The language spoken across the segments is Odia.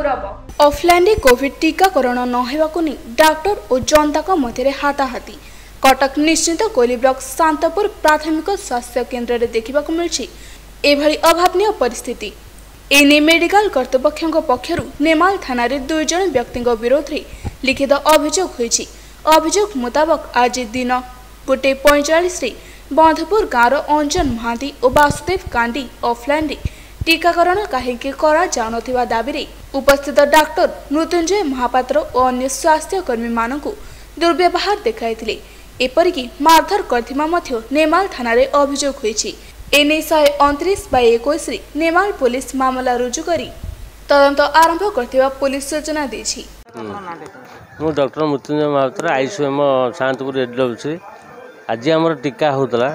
ଗୌରବ। ଅଫଲାଇନରେ କୋଭିଡ ଟିକାକରଣ ନ ହେବାକୁ ନେଇ ଡାକ୍ତର ଓ ଜନତାଙ୍କ ମଧ୍ୟରେ ହାତାହାତି। କଟକ ନିଶ୍ଚିନ୍ତ କୋଇଲି ବ୍ଲକ ଶାନ୍ତପୁର ପ୍ରାଥମିକ ସ୍ୱାସ୍ଥ୍ୟ କେନ୍ଦ୍ରରେ ଦେଖିବାକୁ ମିଳିଛି ଏଭଳି ଅଭାବନୀୟ ପରିସ୍ଥିତି। ଏନେଇ ମେଡିକାଲ କର୍ତ୍ତୃପକ୍ଷଙ୍କ ପକ୍ଷରୁ ନେମାଳ ଥାନାରେ 2 ଜଣ ବ୍ୟକ୍ତିଙ୍କ ବିରୋଧରେ ଲିଖିତ ଅଭିଯୋଗ ହୋଇଛି। ଅଭିଯୋଗ ମୁତାବକ ଆଜି ଦିନ 1:45ରେ ବନ୍ଧପୁର ଗାଁର ଅଞ୍ଜନ ମହାନ୍ତି ଓ ବାସୁଦେବ କାଣ୍ଡି ଅଫଲାଇନରେ ଟିକାକରଣ କାହିଁକି କରାଯାଉନଥିବା ଦାବିରେ ଉପସ୍ଥିତ ଡାକ୍ତର ମୃତ୍ୟୁଞ୍ଜୟ ମହାପାତ୍ର ଓ ଅନ୍ୟ ସ୍ୱାସ୍ଥ୍ୟକର୍ମୀମାନଙ୍କୁ ଦୁର୍ବ୍ୟବହାର ଦେଖାଇଥିଲେ। ଏପରିକି ମାରଧର କରିଥିବା ମଧ୍ୟ ନେମାଳ ଥାନାରେ ଅଭିଯୋଗ ହୋଇଛି। ଏନେଇ 129/21ରେ ନେମାଳ ପୋଲିସ ମାମଲା ରୁଜୁ କରି ତଦନ୍ତ ଆରମ୍ଭ କରିଥିବା ପୋଲିସ ସୂଚନା ଦେଇଛି। ମୁଁ ଡକ୍ଟର ମୃତ୍ୟୁଞ୍ଜୟ ମହାପାତ୍ର, ଆଇସିଏମ୍ ଶାନ୍ତପୁର ଏଡବ୍ଲ୍ୟୁସି। ଆଜି ଆମର ଟୀକା ହେଉଥିଲା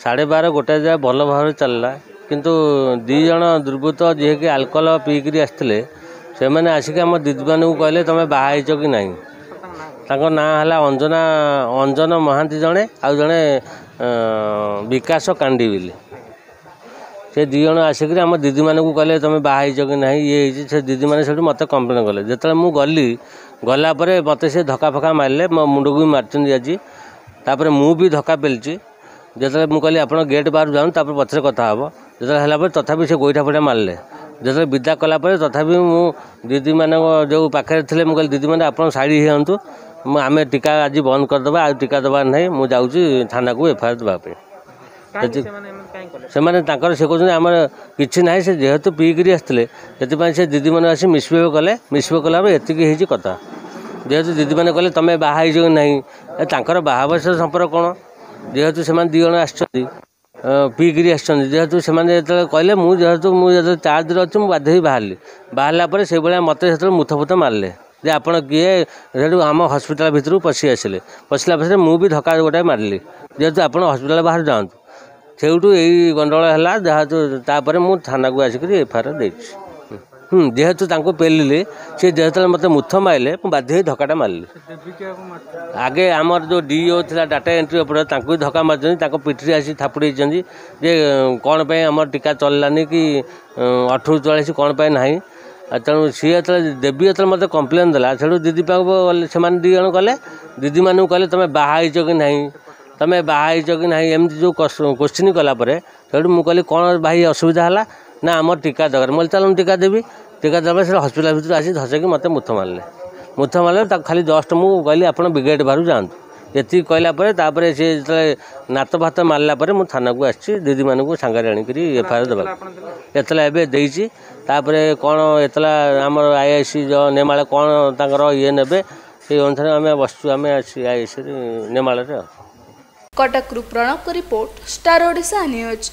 12:30 1 ଯାଏ ଭଲ ଭାବରେ ଚାଲିଲା, କିନ୍ତୁ 2 ଜଣ ଦୁର୍ବୃତ୍ତ ଯିଏକି ଆଲକୋହଲ ପିଇକିରି ଆସିଥିଲେ, ସେମାନେ ଆସିକି ଆମ ଦିଦିମାନଙ୍କୁ କହିଲେ ତୁମେ ବାହା ହେଇଛ କି ନାହିଁ। ତାଙ୍କ ନାଁ ହେଲା ଅଞ୍ଜନା, ଅଞ୍ଜନ ମହାନ୍ତି ଜଣେ, ଆଉ ଜଣେ ବିକାଶ କାଣ୍ଡି ବୋଲି। ସେ 2 ଜଣ ଆସିକିରି ଆମ ଦିଦିମାନଙ୍କୁ କହିଲେ ତୁମେ ବାହା ହେଇଛ କି ନାହିଁ, ଇଏ ହେଇଛି। ସେ ଦିଦିମାନେ ସେଠୁ ମୋତେ କମ୍ପ୍ଲେନ୍ କଲେ। ଯେତେବେଳେ ମୁଁ ଗଲି, ଗଲା ପରେ ମୋତେ ସେ ଧକ୍କା ଫକା ମାରିଲେ, ମୋ ମୁଣ୍ଡକୁ ବି ମାରିଛନ୍ତି ଆଜି। ତାପରେ ମୁଁ ବି ଧକ୍କା ପେଲିଛି। ଯେତେବେଳେ ମୁଁ କହିଲି ଆପଣ ଗେଟ୍ ବାହାରୁ ଯାଆନ୍ତୁ, ତାପରେ ପଛରେ କଥା ହେବ। ଯେତେବେଳେ ହେଲା ପରେ ତଥାପି ସେ ଗୋଇଠା ଫୋଇଠା ମାରିଲେ। ଯେତେବେଳେ ବିଦା କଲା ପରେ ତଥାପି ମୁଁ ଦିଦିମାନଙ୍କ ଯେଉଁ ପାଖରେ ଥିଲେ, ମୁଁ କହିଲି ଦିଦିମାନେ ଆପଣ ସାଇଡ଼ ହେଇଯାଆନ୍ତୁ, ମୁଁ ଆମେ ଟୀକା ଆଜି ବନ୍ଦ କରିଦେବା, ଆଉ ଟୀକା ଦେବାର ନାହିଁ, ମୁଁ ଯାଉଛି ଥାନାକୁ ଏଫଆଇଆର୍ ଦେବା ପାଇଁ। ସେମାନେ ତାଙ୍କର ସେ କହୁଛନ୍ତି ଆମର କିଛି ନାହିଁ, ସେ ଯେହେତୁ ପିଇକିରି ଆସିଥିଲେ ସେଥିପାଇଁ ସେ ଦିଦିମାନେ ଆସି ମିସବିହେଭ୍ କଲେ। ମିସବିହେଭ୍ କଲା ପରେ ଏତିକି ହେଇଛି କଥା। ଯେହେତୁ ଦିଦିମାନେ କହିଲେ ତୁମେ ବାହା ହେଇଛ କି ନାହିଁ, ତାଙ୍କର ବାହା ବୟସ ସମ୍ପର୍କ କ'ଣ? ଯେହେତୁ ସେମାନେ 2 ଜଣ ଆସିଛନ୍ତି ପିଇକିରି ଆସିଛନ୍ତି, ଯେହେତୁ ସେମାନେ ଯେତେବେଳେ କହିଲେ, ମୁଁ ଯେହେତୁ ମୁଁ ଯେତେବେଳେ ଚାର୍ଜରେ ଅଛି ମୁଁ ବାଧ୍ୟ ହେଇ ବାହାରିଲି। ବାହାରିଲା ପରେ ସେଇଭଳିଆ ମୋତେ ସେତେବେଳେ ମୁଥ ଫୁଥ ମାରିଲେ ଯେ ଆପଣ କିଏ। ସେଠୁ ଆମ ହସ୍ପିଟାଲ ଭିତରକୁ ପଶି ଆସିଲେ। ପଶିଲା ପରେ ମୁଁ ବି ଧକ୍କା ଗୋଟାଏ ମାରିଲି, ଯେହେତୁ ଆପଣ ହସ୍ପିଟାଲ ବାହାରୁ ଯାଆନ୍ତୁ। ସେଇଠୁ ଏଇ ଗଣ୍ଡଗୋଳ ହେଲା। ଯେହେତୁ ତାପରେ ମୁଁ ଥାନାକୁ ଆସିକରି ଏଫଆଇଆର୍ ଦେଇଛି। ଯେହେତୁ ତାଙ୍କୁ ପେଲିଲି, ସେ ଯେତେବେଳେ ମୋତେ ମୁଥ ମାରିଲେ ମୁଁ ବାଧ୍ୟ ହେଇ ଧକ୍କାଟା ମାରିଲି। ଆଗେ ଆମର ଯେଉଁ ଡିଓ ଥିଲା ଡାଟା ଏଣ୍ଟ୍ରି ଉପରେ, ତାଙ୍କୁ ବି ଧକ୍କା ମାରିଛନ୍ତି, ତାଙ୍କ ପିଠିରେ ଆସି ଥାପୁଡ଼େଇଛନ୍ତି ଯେ କ'ଣ ପାଇଁ ଆମର ଟୀକା ଚଳିଲାନି କି 18ରୁ 44 କ'ଣ ପାଇଁ ନାହିଁ। ତେଣୁ ସିଏ ଯେତେବେଳେ ଦେବୀ ଯେତେବେଳେ ମୋତେ କମ୍ପ୍ଲେନ୍ ଦେଲା, ସେଠୁ ଦିଦି ପାଖକୁ ଗଲେ, ସେମାନେ 2 ଜଣ ଗଲେ, ଦିଦିମାନଙ୍କୁ କହିଲେ ତୁମେ ବାହା ହେଇଛ କି ନାହିଁ, ତୁମେ ବାହା ହେଇଛ କି ନାହିଁ, ଏମିତି ଯେଉଁ କୋଶ୍ଚିନ୍ କଲା ପରେ ସେଠୁ ମୁଁ କହିଲି କ'ଣ ଭାଇ ଅସୁବିଧା ହେଲା? ନା ଆମର ଟୀକା ଦରକାର। ମୁଁ କହିଲି ଚାଲ ମୁଁ ଟୀକା ଦେବି। ଟୀକା ଦେବା ସେ ହସ୍ପିଟାଲ ଭିତରୁ ଆସି ଧସେଇକି ମୋତେ ମୁଥ ମାରିଲେ। ମୁଥ ମାରିଲେ ତାକୁ ଖାଲି ଜଷ୍ଟ ମୁଁ କହିଲି ଆପଣ ବ୍ରିଗେଡ଼ ବାହାରୁ ଯାଆନ୍ତୁ, ଏତିକି କହିଲା ପରେ ତାପରେ ସେ ଯେତେବେଳେ ନାତ ଭାତ ମାରିଲା ପରେ ମୁଁ ଥାନାକୁ ଆସିଛି ଦିଦିମାନଙ୍କୁ ସାଙ୍ଗରେ ଆଣିକରି ଏଫଆଇଆର୍ ଦେବାକୁ। ଏତଲା ଏବେ ଦେଇଛି। ତାପରେ କ'ଣ ଏତଲା ଆମର ଆଇଆଇସି ନେମାଳ କ'ଣ ତାଙ୍କର ଇଏ ନେବେ ସେଇ ଅନୁସାରେ ଆମେ ବସିଛୁ, ଆମେ ଆସି ଆଇଆଇସି ନେମାଳରେ। ଆଉ କଟକରୁ ପ୍ରଣବଙ୍କ ରିପୋର୍ଟ, ଷ୍ଟାର ଓଡ଼ିଶା ନ୍ୟୁଜ୍।